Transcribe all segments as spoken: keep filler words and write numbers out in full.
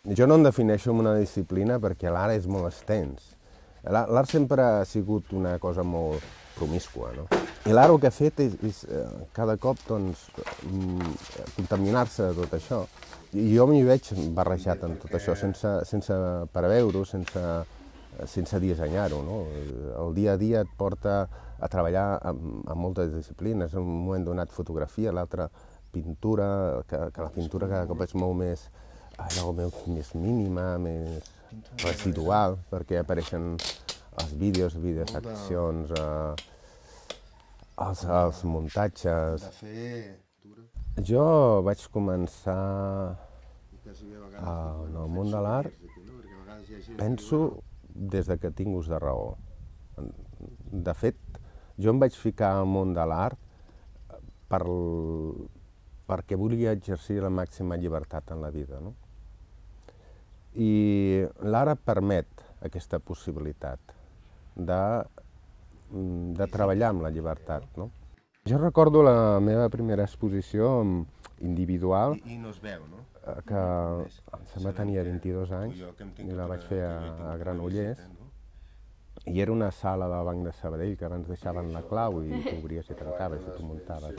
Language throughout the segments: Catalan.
Jo no em defineixo amb una disciplina perquè l'art és molt extens. L'art sempre ha sigut una cosa molt promiscua, no? I l'art el que ha fet és, és cada cop doncs, contaminar-se de tot això. I jo m'hi veig barrejat en tot això, sense, sense preveure-ho, sense, sense dissenyar-ho, no? El dia a dia et porta a treballar amb, amb moltes disciplines. En un moment donat fotografia, l'altre pintura, que, que la pintura cada cop és molt més, allò, més mínima, més residual, perquè apareixen els vídeos, vídeos d'accions, eh, els, els muntatges. Jo vaig començar en el món de l'art, penso, des de que tinc ús de raó. De fet, jo em vaig ficar al món de l'art per, perquè volia exercir la màxima llibertat en la vida, no? I l'art et permet aquesta possibilitat de, de treballar amb la llibertat, no? Jo recordo la meva primera exposició individual, I no es veu, no? que em sembla tenia vint-i-dos anys, i la vaig fer a, a Granollers, i era una sala del Banc de Sabadell que abans deixaven la clau i tu obries i tancaves i tu muntaves.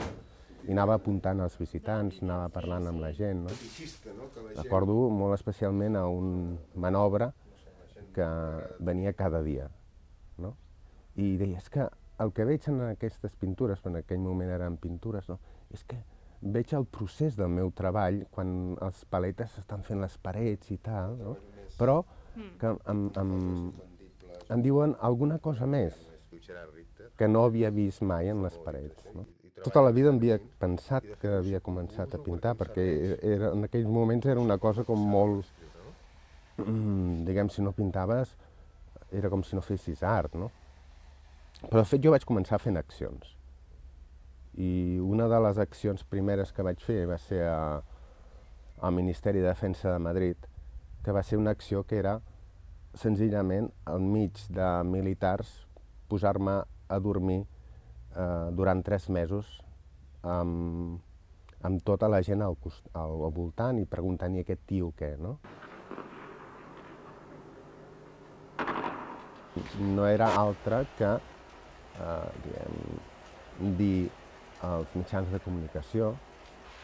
I anava apuntant als visitants, anava parlant amb la gent, no? Recordo molt especialment a un manobre que venia cada dia, no? I deia, és que el que veig en aquestes pintures, en aquell moment eren pintures, no? És que veig el procés del meu treball quan els paletes estan fent les parets i tal, no? Però que em, em, em diuen alguna cosa més que no havia vist mai en les parets, no? Tota la vida em havia pensat que havia començat a pintar, perquè era, en aquells moments era una cosa com molt... Diguem, si no pintaves, era com si no fessis art, no? Però de fet jo vaig començar fent accions. I una de les accions primeres que vaig fer va ser a, al Ministeri de Defensa de Madrid, que va ser una acció que era senzillament enmig de militars posar-me a dormir eh, durant tres mesos amb, amb tota la gent al, al, al voltant i preguntant-hi aquest tio què, no? No era altre que eh, diguem, dir als mitjans de comunicació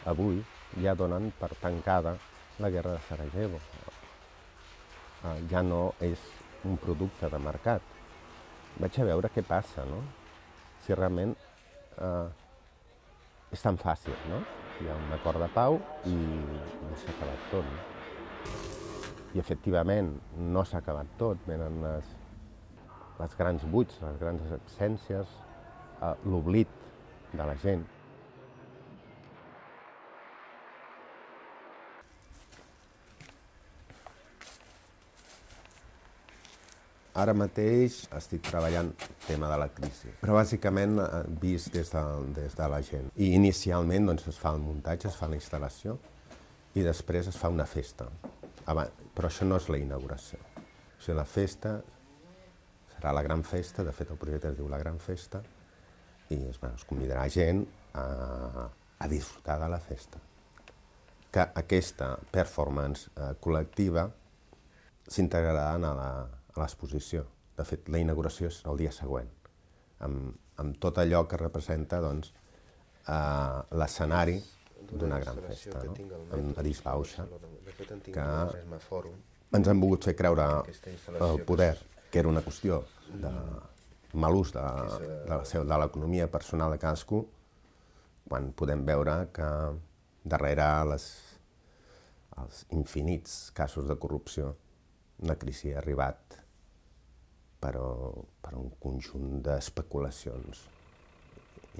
avui ja donen per tancada la guerra de Sarajevo. Eh, ja no és un producte de mercat. Vaig a veure què passa, no? Si realment eh, és tan fàcil, no? Hi ha un acord de pau i no s'ha acabat tot, no? I efectivament no s'ha acabat tot, venen les, les grans buits, les grans absències, eh, l'oblit de la gent. Ara mateix estic treballant el tema de la crisi, però bàsicament vist des de, des de la gent. I inicialment doncs, es fa el muntatge, es fa la instal·lació i després es fa una festa. Abans, però això no és la inauguració. O sigui, la festa serà la gran festa, de fet el projecte es diu La Gran Festa, i es, bueno, es convidarà gent a, a disfrutar de la festa. Que aquesta performance eh, col·lectiva s'integrarà a la a l'exposició. De fet, la inauguració és el dia següent, amb, amb tot allò que representa doncs, eh, l'escenari d'una gran festa, no? Amb Adis Bauxa, que ens han volgut fer creure el poder, que era una qüestió de mal ús de, de, de l'economia personal de cadascú, quan podem veure que darrere les, els infinits casos de corrupció la crisi ha arribat però per un conjunt d'especulacions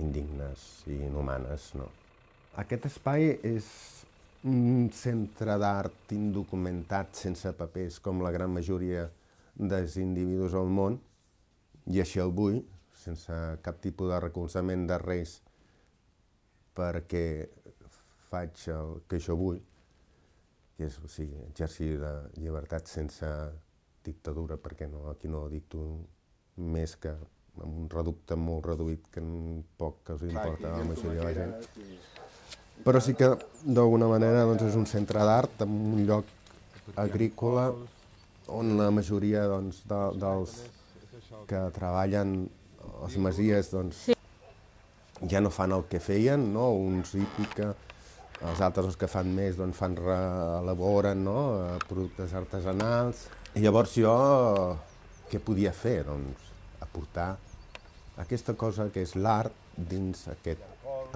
indignes i inhumanes, no? Aquest espai és un centre d'art indocumentat, sense papers, com la gran majoria dels individus al món, i així el vull, sense cap tipus de recolzament de res, perquè faig el que jo vull, que és, o sigui, exercir la llibertat sense dictadura, perquè no, aquí no dicto més que amb un reducte molt reduït que poc que us importa a la majoria de la gent. Però sí que, d'alguna manera, doncs, és un centre d'art, en un lloc agrícola on la majoria doncs, de, dels que treballen a les masies doncs, sí. ja no fan el que feien, no? Uns hípica, els altres els que fan més doncs, fan re, elaboren no? productes artesanals. I llavors jo què podia fer? Doncs aportar aquesta cosa que és l'art dins aquest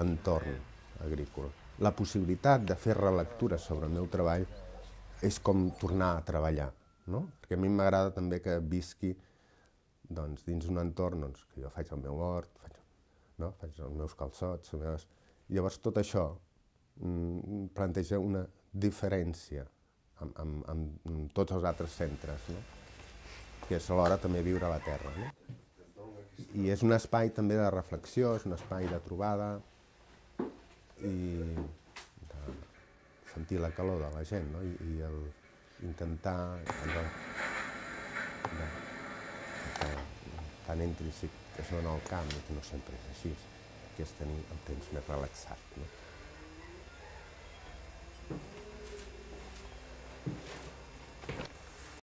entorn agrícola. La possibilitat de fer relectura sobre el meu treball és com tornar a treballar, no? Perquè a mi m'agrada també que visqui doncs, dins un entorn doncs, que jo faig el meu hort, faig, no? faig els meus calçots, les meves... Llavors tot això mm, planteja una diferència amb, amb, amb, amb tots els altres centres, no? Que és alhora també viure a la terra. No? I és un espai també de reflexió, és un espai de trobada i de sentir la calor de la gent, no? I, i el, intentar allò de, de, tan intrínsec que és en el camp, que no sempre és així, que és tenir el temps més relaxat. No?